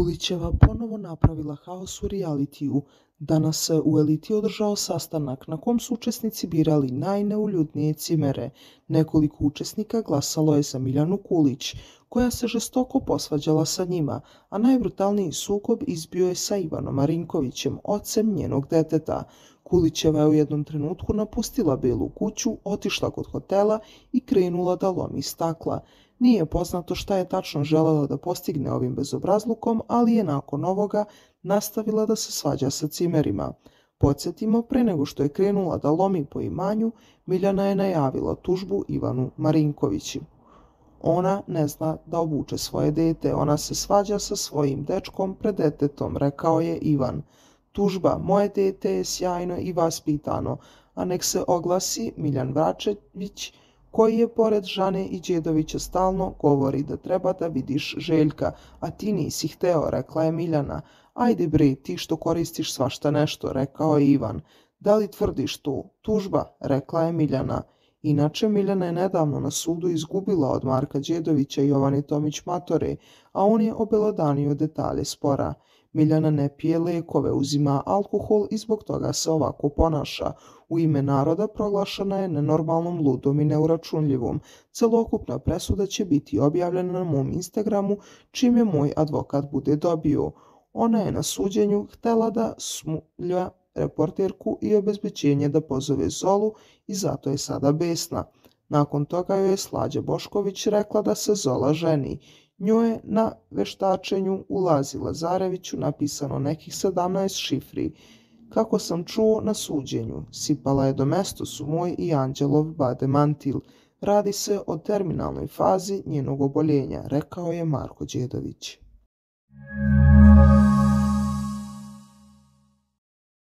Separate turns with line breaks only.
Kulićeva ponovo napravila haos u realitiju. Danas se u Eliti održao sastanak na kom su učesnici birali najneuljudnije cimere. Nekoliko učesnika glasalo je za Miljanu Kulić, koja se žestoko posvađala sa njima, a najbrutalniji sukob izbio je sa Ivanom Marinkovićem, ocem njenog deteta. Kulićeva je u jednom trenutku napustila Belu kuću, otišla kod hotela i krenula da lomi stakla. Nije poznato šta je tačno želela da postigne ovim bezobrazlukom, ali je nakon ovoga nastavila da se svađa sa cimerima. Podsjetimo, pre nego što je krenula da lomi po imanju, Miljana je najavila tužbu Ivanu Marinkoviću. Ona ne zna da obuče svoje dete, ona se svađa sa svojim dečkom pred detetom, rekao je Ivan. Tužba, moje dete je sjajno i vaspitano, a nek se oglasi Miljan Vračević, koji je pored Žane i Đedovića stalno govori da treba da vidiš Željka, a ti nisi hteo, rekla je Miljana. Ajde bre, ti što koristiš svašta nešto, rekao je Ivan. Da li tvrdiš tu? Tužba, rekla je Miljana. Inače, Miljana je nedavno na sudu izgubila od Marka Đedovića i Jovane Tomić Matore, a on je obelodanio detalje spora. Miljana ne pije lekove, uzima alkohol i zbog toga se ovako ponaša. U ime naroda proglašena je nenormalnom, ludom i neuračunljivom. Celokupna presuda će biti objavljena na mom Instagramu, čim je moj advokat bude dobio. Ona je na suđenju htela da smulja reporterku i obezbeđenje da pozove Zolu i zato je sada besna. Nakon toga joj je Slađa Bošković rekla da se Zola ženi. Njoj je na veštačenju u Lazi Lazareviću napisano nekih 17 šifri. Kako sam čuo na suđenju, sipala je do mestosu moj i Anđelov bade mantil. Radi se o terminalnoj fazi njenog oboljenja, rekao je Marko Đedović.